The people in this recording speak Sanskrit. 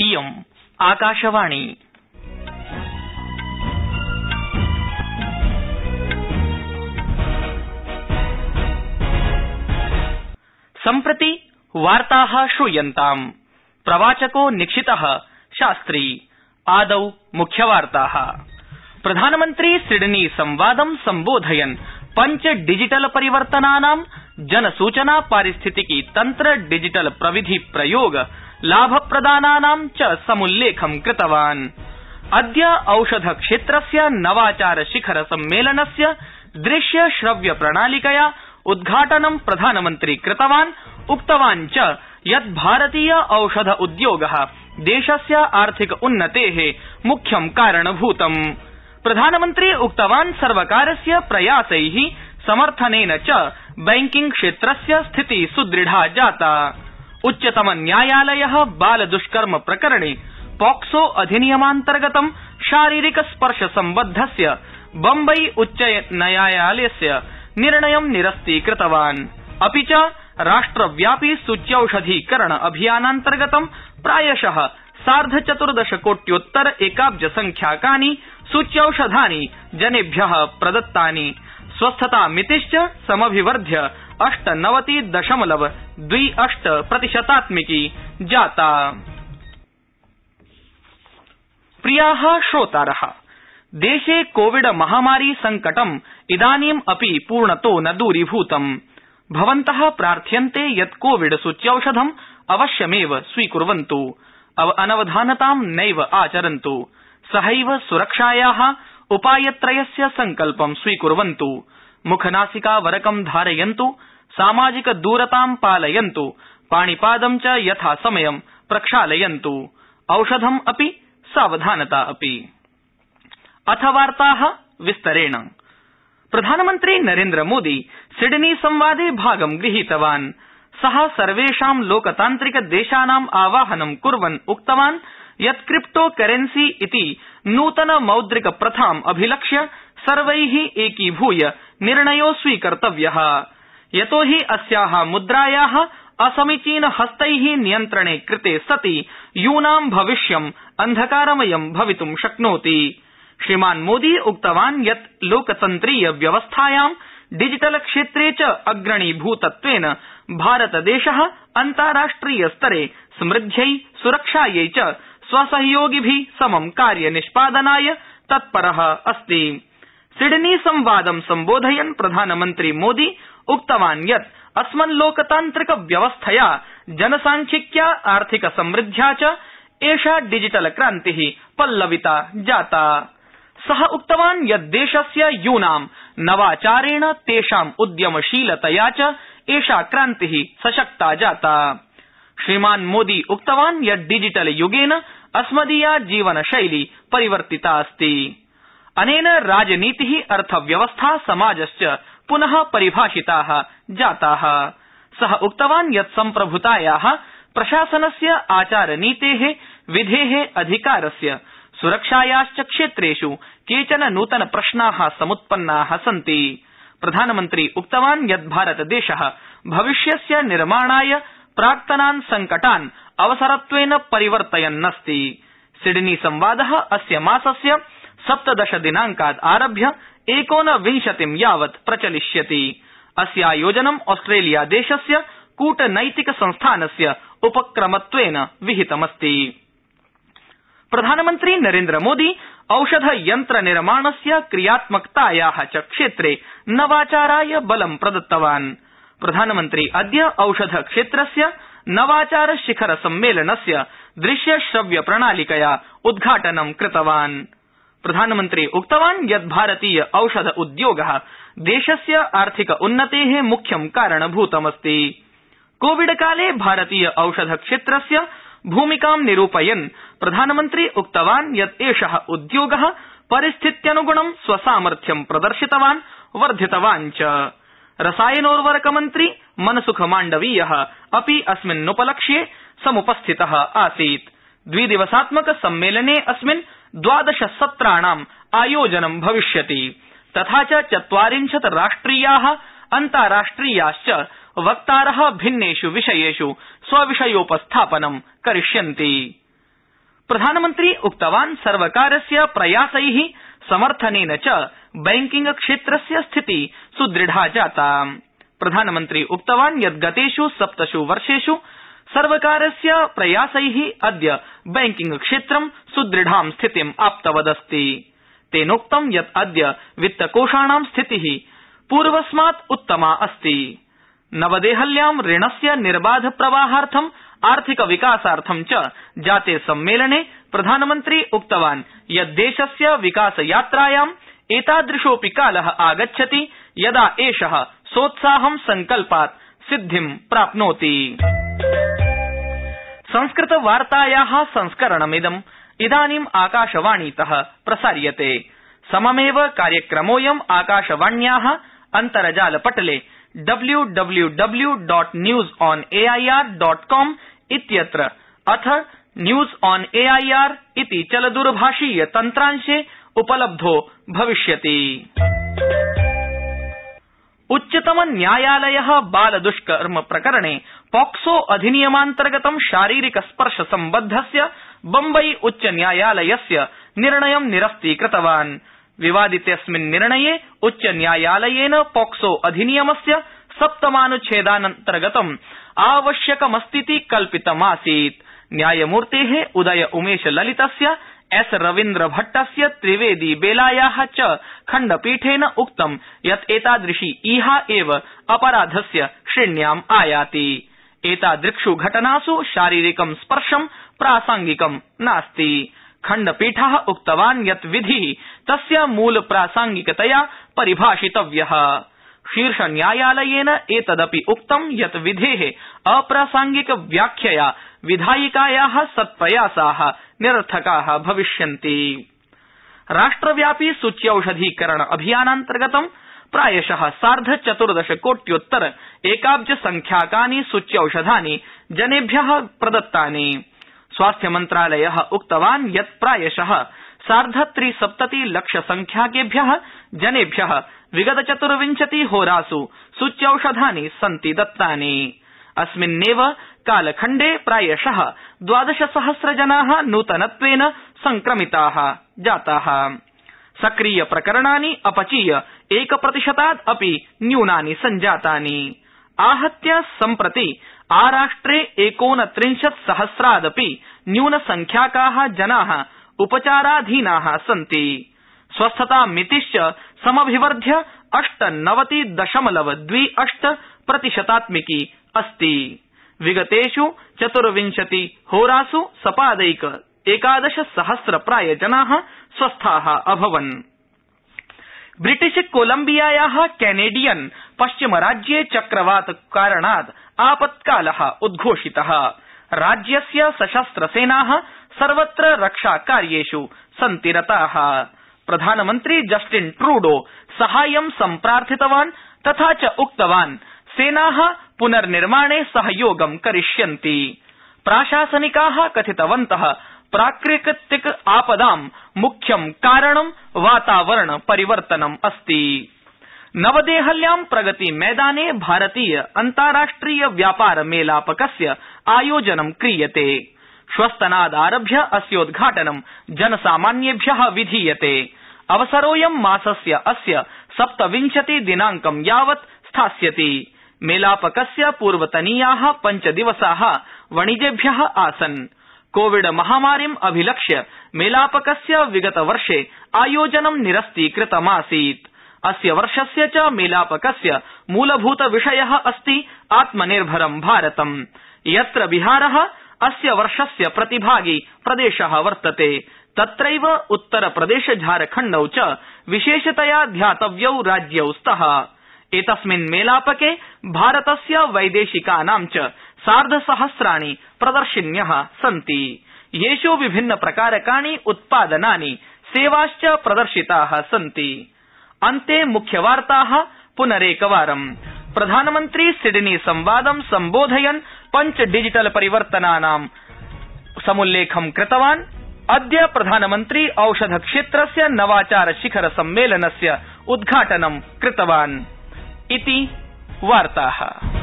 इयम् आकाशवाणी। सम्प्रति वार्ताः श्रूयन्ताम्। प्रवाचको निक्षितः शास्त्री। आदौ मुख्यवार्ताः। प्रधानमन्त्री सिडनी संवादं सम्बोधयन् पंच डिजिटल परिवर्तनानां जनसूचना पारिस्थितिकी तन्त्र डिजिटल प्रविधि प्रयोग लाभप्रदानानां च समुल्लेखं कृतवान्। अद्य औषध क्षेत्रस्य नवाचार शिखर सम्मेलनस्य दृश्य श्रव्य प्रणालिकया उद्घाटनं प्रधानमन्त्री कृतवान्। उक्तवान् च यत् भारतीय औषध उद्योगः देशस्य आर्थिक उन्नतेः मुख्यं कारणभूतम्। प्रधानमन्त्री उक्तवान् सर्वकारस्य प्रयासैः समर्थनेन च बैंकिंग क्षेत्रस्य स्थितिः सुदृढा जाता। उच्चतम न्यायालयः बाल दुष्कर्म प्रकरणे पॉक्सो अधिनियमान्तर्गतं शारीरिक स्पर्श सम्बद्धस्य बम्बई उच्च न्यायालयस्य निर्णयं निरस्तीकृतवान्। अपि च राष्ट्रव्यापी सूच्यौषधीकरण अभियानान्तर्गतं प्रायशः 14.5 कोट्योत्तर एकाब्ज संख्याकानि सूच्यौषधानि जनेभ्यः प्रदत्तानि। स्वस्थतामितिश्च समभिवर्ध्य 98.28% जाता। प्रियाः श्रोतारः, देशे कोविड महामारी संकटम् इदानीम् अपि पूर्णतो न दूरीभूतम्। भवन्तः प्रार्थ्यन्ते यत् कोविड सूच्यौषधम् अवश्यमेव स्वीकुर्वन्तु, अनवधानतां नैव आचरन्तु, सहैव सुरक्षायाः उपायत्रयस्य संकल्पं स्वीकुर्वन्तु, मुखनासिकावरकं धारयन्तु, सामाजिक दूरतां पालयन्तु, पाणिपादं च यथासमयं प्रक्षालयन्तु, औषधम् अपि सावधानता अपि। अथ वार्ताः विस्तरेण। प्रधानमन्त्री नरेन्द्र मोदी सिडनी संवादे भागं गृहीतवान्। सः सर्वेषां लोकतान्त्रिक देशानां आवाहनं कुर्वन् उक्तवान् यत् क्रिप्टो करेन्सी इति नूतन मौद्रिक प्रथाम् अभिलक्ष्य सर्वैः एकीभूय निर्णयो स्वीकर्तव्यः, यतो हि अस्याः मुद्रायाः असमीचीन हस्तैः नियन्त्रणे कृते सति यूनां भविष्यम् अन्धकारमयं भवितुं शक्नोति। श्रीमान् मोदी उक्तवान् यत् लोकतन्त्रीय व्यवस्थायां डिजिटल क्षेत्रे च अग्रणीभूतत्वेन भारतदेशः अन्ताराष्ट्रिय स्तरे समृद्ध्यै सुरक्षायै च स्वसहयोगिभिः समं कार्यनिष्पादनाय तत्परः अस्ति। सिडनी संवादं सम्बोधयन् प्रधानमन्त्री मोदी उक्तवान् यत् अस्मन् लोकतान्त्रिक व्यवस्थया जनसांख्यिक्या आर्थिक समृद्ध्या च एषा डिजिटल क्रान्तिः पल्लविता जाता। सः उक्तवान् यत् देशस्य यूनां नवाचारेण तेषाम् उद्यमशीलतया च एषा क्रान्तिः सशक्ता जाता। श्रीमान् मोदी उक्तवान् यत् डिजिटल युगेन अस्मदीया जीवनशैली परिवर्तिता अस्ति। अनेन राजनीतिः, अर्थव्यवस्था, समाजश्च पुनः परिभाषिताः जाताः। सः उक्तवान् यत् सम्प्रभुतायाः प्रशासनस्य आचारनीतेः, विधेः, अधिकारस्य, सुरक्षायाश्च क्षेत्रेषु केचन नूतन प्रश्नाः समुत्पन्नाः सन्ति। प्रधानमन्त्री उक्तवान् यत् भारतदेशः भविष्यस्य निर्माणाय प्राक्तनान् संकटान् अवसरत्वेन परिवर्तयन्नस्ति। सिडनी संवादः अस्य मासस्य 17 दिनांकात् आरभ्य 19 यावत् प्रचलिष्यति। अस्यायोजनम् ऑस्ट्रेलिया देशस्य कूटनैतिक संस्थानस्य उपक्रमत्वेन विहितमस्ति। प्रधानमन्त्री नरेन्द्र मोदी औषध यन्त्र निर्माणस्य क्रियात्मकतायाः च क्षेत्रे नवाचाराय बलं प्रदत्तवान्। प्रधानमन्त्री अद्य औषध क्षेत्रस्य नवाचार शिखर सम्मेलनस्य दृश्य श्रव्य प्रणालिकया उद्घाटनं कृतवान्। प्रधानमन्त्री उक्तवान् यत् भारतीय औषध उद्योगः देशस्य आर्थिक उन्नतेः मुख्यं कारणभूतमस्ति। कोविड काले भारतीय औषध क्षेत्रस्य भूमिकां निरूपयन् प्रधानमन्त्री उक्तवान् यत् एषः उद्योगः परिस्थित्यनुगुणं स्वसामर्थ्यं प्रदर्शितवान्, वर्धितवान् च। रसायनोर्वरक मन्त्री मनसुख माण्डवीयः अपि अस्मिन्नुपलक्ष्ये समुपस्थितः आसीत्। द्विदिवसात्मक सम्मेलने अस्मिन् 12 सत्राणाम् आयोजनं भविष्यति, तथा च 40 राष्ट्रियाः अन्ताराष्ट्रियाश्च वक्तारः भिन्नेष् विषयेष् स्वविषयोपस्थापनं करिष्यन्ति। प्रधानमन्त्री उक्तवान् सर्वकारस्य प्रयासैः समर्थनेन च बैंकिंग क्षेत्रस्य स्थिति सुदृढ़ा जाता। प्रधानमन्त्री उक्तवान् यत् गतेषु 7 वर्षेषु सर्वकारस्य प्रयासैः अद्य बैंकिंग क्षेत्रं सुदृढ़ां स्थितिम् आप्तवदस्ति। तेनोक्तं यत् अद्य वित्तकोषाणां स्थितिः पूर्वस्मात् उत्तमा अस्ति। नवदेहल्यां ऋणस्य निर्बाध प्रवाहार्थं आर्थिक विकासार्थं च जाते सम्मेलने प्रधानमन्त्री उक्तवान् यत् देशस्य विकासयात्रायाम् एतादृशोऽपि कालः आगच्छति यदा एषः सोत्साहं संकल्पात् सिद्धिं प्राप्नोति। संस्कृतवार्तायाः संस्करणमिदम् इदानीम् आकाशवाणीतः प्रसार्यते। सममेव कार्यक्रमोऽयम् आकाशवाण्याः अन्तर्जालपटले www.newsonair.com इत्यत्र अथ न्यूज ऑन एआईआर इति चलदूरभाषीय तन्त्रांशे उपलब्धो भविष्यति। उच्चतम न्यायालयः बालदुष्कर्म प्रकरणे पॉक्सो अधिनियमान्तर्गतं शारीरिक स्पर्श सम्बद्धस्य बम्बई उच्च न्यायालयस्य निर्णयं निरस्तीकृतवान्। विवादितेऽस्मिन् निर्णये उच्च न्यायालयेन पॉक्सो अधिनियमस्य 7मानुच्छेदान्तर्गतं आवश्यकमस्तीति कल्पितमासीत्। न्यायमूर्तेः उदय उमेश ललितस्य एस रवीन्द्र भट्टस्य त्रिवेदी बेलायाः च खण्डपीठेन उक्तं यत् एतादृशी ईहा एव अपराधस्य श्रेण्याम् आयाति। एतादृक्षु घटनासु शारीरिकं स्पर्शं प्रासंगिकं नास्ति। खण्डपीठः उक्तवान् यत् विधिः तस्य मूल प्रासंगिकतया परिभाषितव्यः। शीर्षन्यायालयेन एतदपि उक्तं यत् विधेः अप्रासंगिक व्याख्यया विधायिकायाः सत्प्रयासाः निरर्थकाः भविष्यन्ति। राष्ट्रव्यापी सूच्यौषधीकरण अभियानान्तर्गतं प्रायशः 14.5 कोट्योत्तर एकाब्ज संख्याकानि सूच्यौषधानि जनेभ्यः प्रदत्तानि। स्वास्थ्यमन्त्रालयः उक्तवान् यत् प्रायशः 3.75 लक्ष संख्याकेभ्यः जनेभ्यः विगत 24 होरासु सूच्यौषधानि सन्ति दत्तानि। अस्मिन्नेव कालखण्डे प्रायशः 12,000 जनाः नूतनत्वेन संक्रमिताः जाताः। सक्रिय प्रकरणानि अपचीय 1% अपि न्यूनानि सञ्जातानि। आहत्य सम्प्रति आराष्ट्रे 39,000 न्यूनसंख्याकाः जनाः उपचाराधीनाः सन्ति। स्वस्थतामितिश्च समभिवर्ध्य 98.28% अस्ति। विगतेषु 24 होरासु सपादैक 11,000 प्राय जनाः स्वस्थाः अभवन्। ब्रिटिश कोलम्बियायाः कैनेडियन पश्चिमराज्ये चक्रवात कारणात् आपत्कालः उद्घोषितः। राज्यस्य सशस्त्रसेनाः सर्वत्र रक्षाकार्येषु सन्ति रताः। प्रधानमन्त्री जस्टिन ट्रूडो साहाय्यं सम्प्रार्थितवान् तथा च उक्तवान् सेनाः पुनर्निर्माणे सहयोगं करिष्यन्ति। प्राशासनिकाः कथितवन्तः प्राकृतिक आपदां मुख्यं कारणं वातावरण परिवर्तनम् अस्ति। नवदेहल्यां प्रगति मैदाने भारतीय अन्ताराष्ट्रिय व्यापार मेलापकस्य आयोजनं क्रियते। श्वस्तनादारभ्य अस्योद्घाटनं जनसामान्येभ्यः विधीयते। अवसरोऽयं मासस्य अस्य 27 दिनांकं यावत् स्थास्यति। मेलापकस्य पूर्वतनीयाः 5 दिवसाः वणिजेभ्यः आसन्। कोविड महामारीम् अभिलक्ष्य मेलापकस्य विगतवर्षे आयोजनं निरस्तीकृतमासीत्। अस्य वर्षस्य च मेलापकस्य मूलभूत विषयः अस्ति आत्मनिर्भरं भारतम्। यत्र बिहारः अस्य वर्षस्य प्रतिभागी प्रदेशः वर्तते तत्रैव उत्तरप्रदेश झारखण्डौ च विशेषतया ध्यातव्यौ राज्यौ स्तः। एतस्मिन् मेलापके भारतस्य वैदेशिकानां च 1,500 प्रदर्शिन्यः सन्ति। येषु विभिन्न प्रकारकाणि उत्पादनानि सेवाश्च प्रदर्शिताः सन्ति। अन्ते मुख्यवार्ताः पुनरेकवारम्। प्रधानमन्त्री सिडनी संवादं सम्बोधयन् 5 डिजिटल परिवर्तनानां समुल्लेखं कृतवान्। अद्य प्रधानमन्त्री औषध क्षेत्रस्य नवाचार शिखर सम्मेलनस्य उद्घाटनं कृतवान्। इति वार्ताः।